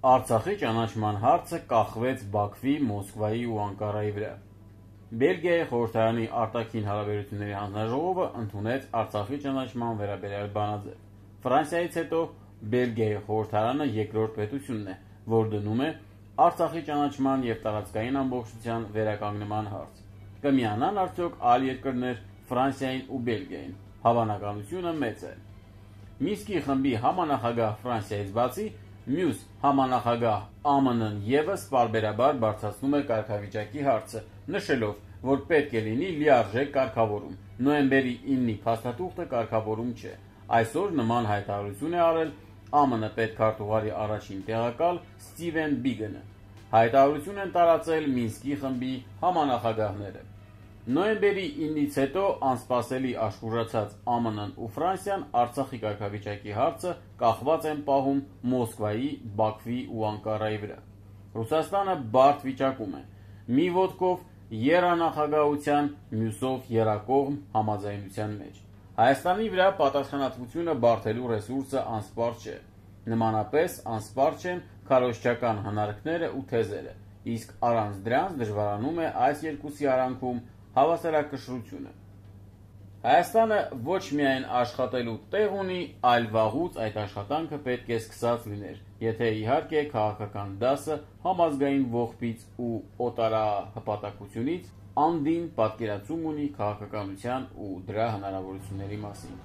Արցախի ճանաչման հարցը կախվեց Բաքվի, Մոսկվայի ու Անկարայի վրա։ Բելգիայի խորհրդարանի արտաքին հարաբերությունների հանձնաժողովը ընդունեց Արցախի ճանաչման վերաբերյալ բանաձև։ Ֆրանսիայից հետո Բելգիայի խորհրդարանը երկրորդ պետությունն է, որ դնում է Արցախի ճանաչման և տարածքային ամբողջության վերականգնման հարց։ Կմիանան արդյոք այլ երկրներ Ֆրանսիային ու Բելգիային։ Հավանականությունը մեծ է։ Մինսկի խմբի համանախագահ Ֆրանսիայից բացի, մյուս համանախագահ ԱՄՆ-ն ևս պարբերաբար բարձրացնում է կարգավիճակի հարցը, նշելով, որ պետք է լինի լիարժեք կարգավորում։ Նոյեմբերի 9-ի փաստաթուղթը կարգավորում չէ։ Այսօր նման հայտարարություն է արել ԱՄՆ պետքարտուղարի առաջին տեղակալ Ստիվեն Բիգենը։ Հայտարարություն են տարածել Մինսկի խմբի համանախագահները։ Նոյեմբերի 9-ից հետո անսպասելի աշխուժացած ԱՄՆ-ն ու Ֆրանսիան Արցախի կարգավիճակի հարցը կախված են պահում Մոսկվայի, Բաքվի ու Անկարայի վրա։ Ռուսաստանը բարդ վիճակում է՝ մի ոտքով եռանախագահության, մյուսով եռակողմ համաձայնության մեջ։ Հայաստանի վրա պատասխանատվությունը բարդելու ռեսուրսը անսպառ չէ։ Նմանապես անսպառ չեն քարոզչական հնարքները ու թեզերը, իսկ առանց դրանց դժվարանում է այս երկուսի արանքում հավասարակշռությունը։ Հայաստանը ոչ միայն աշխատելու տեղ ունի, այլ վաղուց այդ աշխատանքը պետք է սկսած լիներ, եթե իհարկե քաղաքական դասը համազգային ողբից ու օտարահպատակությունից անդին պատկերացում ունի քաղաքականության ու դրա հնարավորությունների մասին։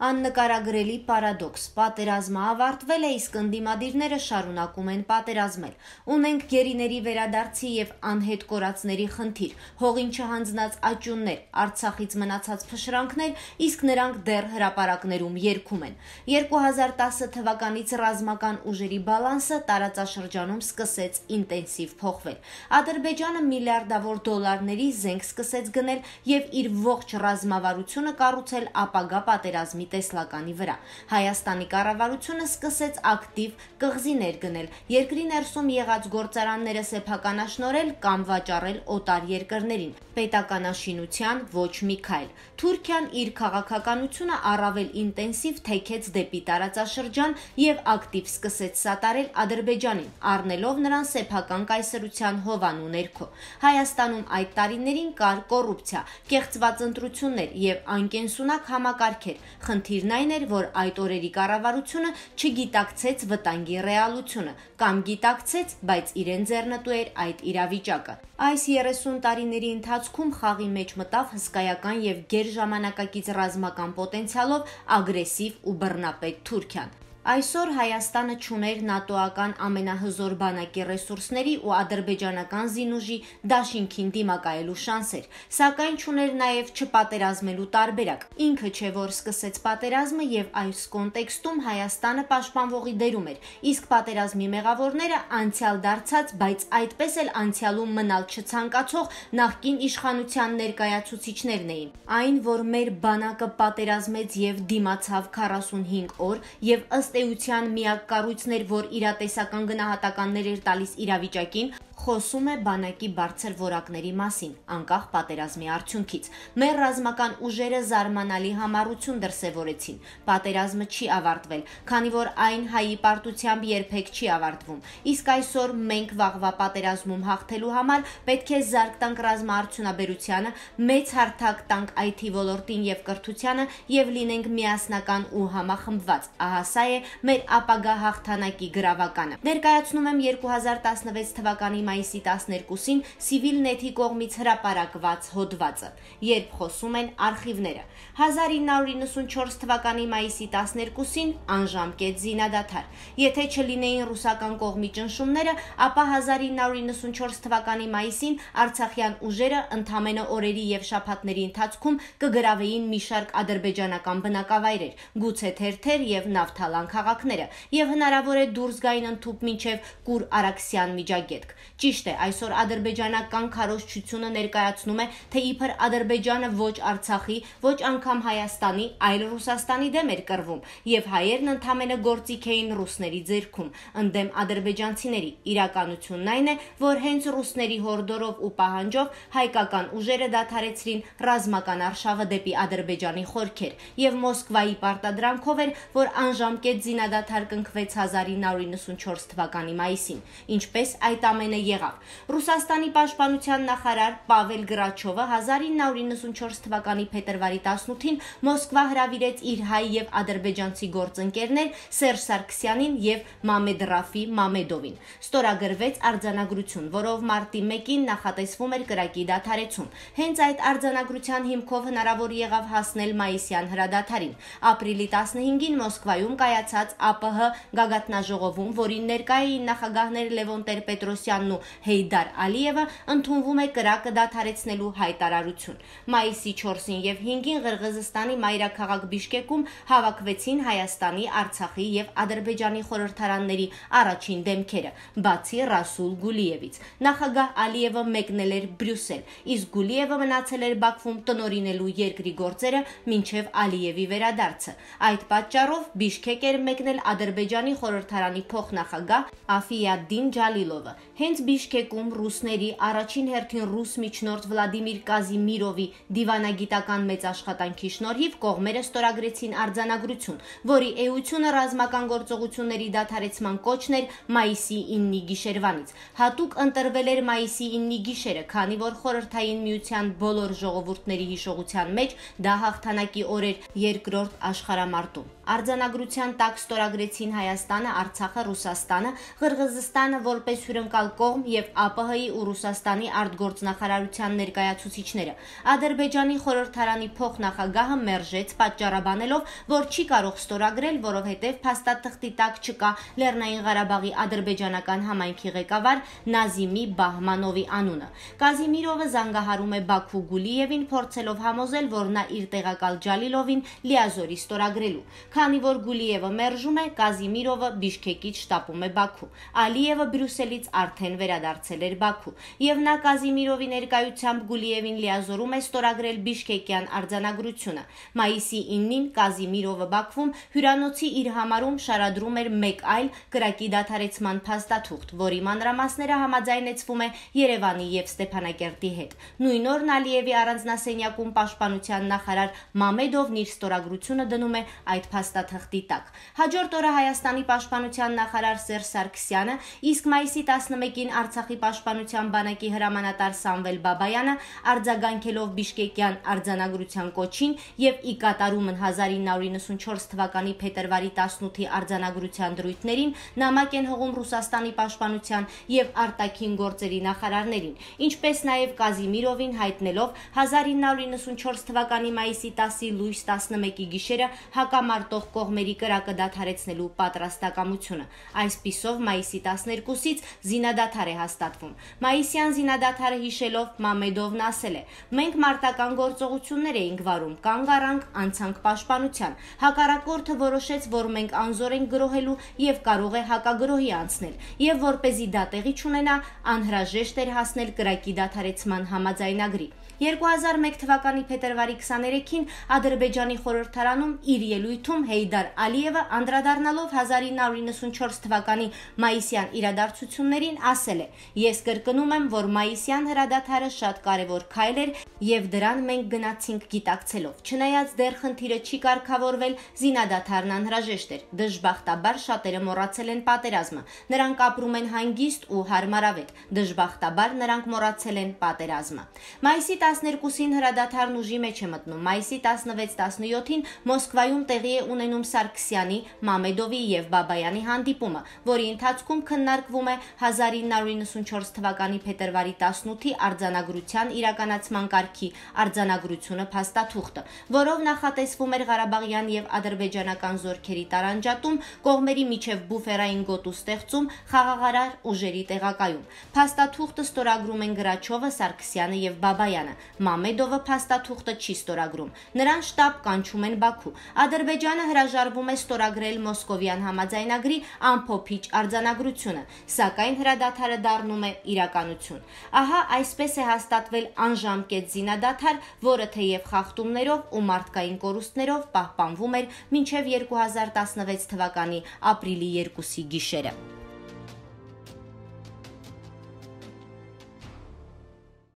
Աննկարագրելի պարադոքս. պատերազմը ավարտվել է, իսկ ընդդիմադիրները շարունակում են պատերազմել։ Ունենք գերիների վերադարձի եւ անհետ կորածների խնդիր, հողին չհանձնած աճյուններ, Արցախից մնացած փշրանքներ, իսկ նրանք դեռ հրապարակներում երգում են։ 2010 թվականից ռազմական ուժերի բալանսը տարածաշրջանում սկսեց ինտենսիվ փոխվել։ Ադրբեջանը միլիարդավոր դոլարների զենք սկսեց գնել եւ իր ողջ ռազմավարությունը կառուցել ապագա պատերազմի տեսլականի վրա։ Հայաստանի կառավարությունը սկսեց ակտիվ կղզիներ գնել, երկրի ներսում եղած գործարանները սեփականաշնորհել կամ վաճառել օտար երկրներին։ Պետականաշինության ոչ մի քայլ։ Թուրքիան իր քաղաքականությունը առավել ինտենսիվ թեքեց դեպի տարածաշրջան եւ ակտիվ սկսեց սատարել Ադրբեջանին, առնելով նրան սեփական կայսրության հովանու ներքո։ Հայաստանում այդ տարիներին կար կոռուպցիա, կեղծված ընտրություններ եւ անկենսունակ համակարգեր։ Խնդիրն այն էր, որ այդ օրերի կառավարությունը չգիտակցեց վտանգի ռեալությունը, կամ գիտակցեց, բայց իրեն ձեռնտու էր այդ իրավիճակը։ Այս 30 տարիների ընթացքում խաղի մեջ մտավ հսկայական եւ գերժամանակակից ռազմական պոտենցիալով ագրեսիվ ու բռնապետ Թուրքիան։ Այսօր Հայաստանը չուներ նատոական ամենահզոր բանակի ռեսուրսների ու ադրբեջանական զինուժի դաշինքին դիմակայելու շանսեր, սակայն չուներ նաև չպատերազմելու տարբերակ։ Ինքը չէ, որ սկսեց պատերազմը եւ այս կոնտեքստում Հայաստանը պաշտպանվողի դերում էր, իսկ պատերազմի մեղավորները անցյալ դարձած, բայց այդպես էլ անցյալում մնալ չցանկացող նախկին իշխանության ներկայացուցիչներն էին։ Այն, որ մեր բանակը պատերազմեց եւ դիմացավ 45 օր եւ ըստ էության միակ կառույցն էր, որ իրատեսական գնահատականներ էր տալիս իրավիճակին, խոսում է բանակի բարձր որակների մասին, անկախ պատերազմի արդյունքից։ Մեր ռազմական ուժերը զարմանալի համառություն դրսևորեցին։ Պատերազմը չի ավարտվել, քանի որ այն հայի պարտությամբ երբեք չի ավարտվում։ Իսկ այսօր մենք վաղվա պատերազմում հաղթելու համար պետք է զարկ տանք ռազմաարդյունաբերությանը, մեծ հարթակ տանք IT ոլորտին եւ կրթությանը եւ լինենք միասնական ու համախմբված։ Ահա սա է մեր ապագա հաղթանակի գրավականը։ Ներկայացնում եմ 2016 թվականի մայիսի 12-ին Civilnet-ի կողմից հրապարակված հոդվածը, երբ խոսում են արխիվները։ 1994 թվականի մայիսի 12-ին անժամկետ զինադադար։ Եթե չլինեին ռուսական կողմի ճնշումները, ապա 1994 թվականի մայիսին արցախյան ուժերը ընդամենը օրերի եւ շաբաթների ընթացքում կգրավեին մի շարք ադրբեջանական բնակավայրեր, գուցե թերթեր եւ նավթալան քաղաքները, եւ հնարավոր է դուրս գային ընդཐུպ մինչեւ Կուր Արաքսյան միջագետք։ Ճիշտ է, այսօր ադրբեջանական քարոզչությունը ներկայացնում է, թե իբր Ադրբեջանը ոչ Արցախի, ոչ անգամ Հայաստանի, այլ Ռուսաստանի դեմ էր կռվում, եւ հայերն ընդամենը գործիք էին ռուսների ձեռքում, ընդդեմ ադրբեջանցիների։ Իրականությունն այն է, որ հենց ռուսների հորդորով ու պահանջով հայկական ուժերը դադարեցրին ռազմական արշավը դեպի Ադրբեջանի խորքեր, եւ Մոսկվայի պարտադրանքով էր, որ անժամկետ զինադադար կնքվեց 1994 թվականի մայիսին։ Ինչպես այդ ամենը եղավ։ Ռուսաստանի պաշտպանության նախարար Պավել Գրաչովը 1994 թվականի փետրվարի 18-ին Մոսկվա հրավիրեց իր հայ եւ ադրբեջանցի գործընկերներ Սերժ Սարգսյանին եւ Մամեդ Ռաֆի Մամեդովին։ Ստորագրվեց արձանագրություն, որով մարտի 1-ին նախատեսվում էր կրակի դադարեցում։ Հենց այդ արձանագրության հիմքով հնարավոր եղավ հասնել մայիսյան հրադադարին։ Ապրիլի 15-ին Մոսկվայում կայացած ԱՊՀ գագաթնաժողովում, որին ներկայ էին նախագահներ Լևոն Տեր-Պետրոսյանն ու Հեյդար Ալիևը, ընդունվում է կրակը դադարեցնելու հայտարարություն։ Մայիսի 4-ին եւ 5-ին Ղրղըզստանի մայրաքաղաք Բիշկեկում հավաքվեցին Հայաստանի, Արցախի եւ Ադրբեջանի խորհրդարանների առաջին դեմքերը, բացի Ռասուլ Գուլիևից։ Նախագահ Ալիևը մեկնել էր Բրյուսել, իսկ Գուլիևը մնացել էր Բաքվում տնօրինելու երկրի գործերը մինչև Ալիևի վերադարձը։ Այդ պատճառով Բիշկեկ էր մեկնել Ադրբեջանի խորհրդարանի փոխնախագահ Աֆիադդին Ջալիլովը։ Հենց Բիշկեկում ռուսների առաջին հերթին ռուս միջնորդ Վլադիմիր Կազիմիրովի դիվանագիտական մեծ աշխատանքի շնորհիվ կողմերը ստորագրեցին արձանագրություն, որի էությունը ռազմական գործողությունների դադարեցման կոչն էր մայիսի 9-ի գիշերվանից։ Հատուկ ընտրվել էր մայիսի 9-ի գիշերը, քանի որ Խորհրդային Միության բոլոր ժողովուրդների հիշողության մեջ դա հաղթանակի օր էր երկրորդ աշխարհամարտում։ Արձանագրության տակ ստորագրեցին Հայաստանը, Արցախը, Ռուսաստանը, Ղրղըզստանը որպես հյուրընկալ կողմ եւ ԱՊՀ-ի ու Ռուսաստանի արտգործնախարարության ներկայացուցիչները։ Ադրբեջանի խորհրդարանի փոխնախագահը մերժեց, պատճառաբանելով, որ չի կարող ստորագրել, որովհետեւ փաստաթղթի տակ չկա Լեռնային Ղարաբաղի ադրբեջանական համայնքի ղեկավար Նազիմի Բահմանովի անունը։ Կազիմիրովը զանգահարում է Բաքու Գուլիևին, փորձելով համոզել, որ նա իր տեղակալ Ջալիլովին լիազորի ստորագրելու։ Քանի որ Գուլիևը մերժում է, Կազիմիրովը Բիշկեկից շտապում է Բաքու։ Ալիևը Բրյուսելից արդեն վերադարձել էր Բաքու, եւ նա Կազիմիրովի ներկայությամբ Գուլիևին լիազորում է ստորագրել Բիշկեկյան արձանագրությունը։ Մայիսի 9-ին Կազիմիրովը Բաքվում հյուրանոցի իր համարում շարադրում էր մեկ այլ կրակի դադարեցման փաստաթուղթ, որի մանրամասները համաձայնեցվում է Երևանի եւ Ստեփանակերտի հետ։ Նույն օրն Ալիևի առանձնասենյակում պաշտպանության նախարար Մամեդովն իր ստորագրությունը դնում է այդ փաստաթղթի տակ։ Հաջորդ օրը Հայաստանի պաշտպանության նախարար Սերժ Սարգսյանը, իսկ մայիսի 11-ին Արցախի պաշտպանության բանակի հրամանատար Սամվել Բաբայանը արձագանքելով Բիշկեկյան արձանագրության կոչին եւ ի կատարումն 1994 թվականի փետրվարի 18-ի արձանագրության դրույթներին նամակ են հողում Ռուսաստանի պաշտպանության եւ արտաքին գործերի նախարարներին, ինչպես նաեւ Կազիմիրովին հայտնելով 1994 թվականի մայիսի 10-ի լույս 11-ի գիշերը հակամարտող կողմերի կրակը դադարեցնելու պատրաստակամությունը։ Այսպիսով մայիսի 12-ից զինադադար է հաստատվում։ Մայիսյան զինադադարը հիշելով Մամեդովն ասել է. «Մենք մարտական գործողություններ էինք վարում, կանգ առանք, անցանք պաշտպանության։ Հակառակորդը որոշեց, որ մենք անզոր ենք գրոհելու եւ կարող է հակագրոհի անցնել, եւ որպեսզի դա տեղի չունենա, անհրաժեշտ էր հասնել կրակի դադարեցման համաձայնագրի»։ 2001 թվականի փետրվարի 23-ին Ադրբեջանի խորհրդարանում իր ելույթում Հեյդար Ալիևը անդրադառնալով 1994 թվականի մայիսյան իրադարձություններին ասել է. «Ես կրկնում եմ, որ մայիսյան հրադադարը շատ կարևոր քայլ էր եւ դրան մենք գնացինք գիտակցելով։ Չնայած դեռ խնդիրը չի կարգավորվել, զինադադարն անհրաժեշտ էր։ Դժբախտաբար շատերը մոռացել են պատերազմը։ Նրանք ապրում են հանգիստ ու հարմարավետ։ Դժբախտաբար նրանք մոռացել են պատերազմը»։ Մայիսի 12-ին հրադադարն ուժի մեջ է մտնում։ Մայիսի 16-17-ին Մոսկվայում տեղի է ունենում Սարգսյանի, Մամեդովի եւ Բաբայանի հանդիպումը, որի ընթացքում քննարկվում է 1994 թվականի փետրվարի 18-ի արձանագրության իրականացման կարգի արձանագրությունը փաստաթուղթը, որով նախատեսվում էր Ղարաբաղյան եւ ադրբեջանական զորքերի տարանջատում, կողմերի միջև բուֆերային գոտու ստեղծում, խաղաղարար ուժերի տեղակայում։ Փաստաթուղթը ստորագրում են Գրաչովը, Սարգսյանը եւ Բաբայանը։ Մամեդովը փաստաթուղթը չի ստորագրում։ Նրան շտապ կանչում են Բաքու։ Ադրբեջանը հրաժարվում է ստորագրել Մոսկովյան համաձայնագրի ամփոփիչ արձանագրությունը, սակայն հրադադարը դառնում է իրականություն։ Ահա այսպես է հաստատվել անժամկետ զինադադար, որը թեև խախտումներով ու մարդկային կորուստներով պահպանվում էր մինչև 2016 թվականի ապրիլի 2-ի գիշերը։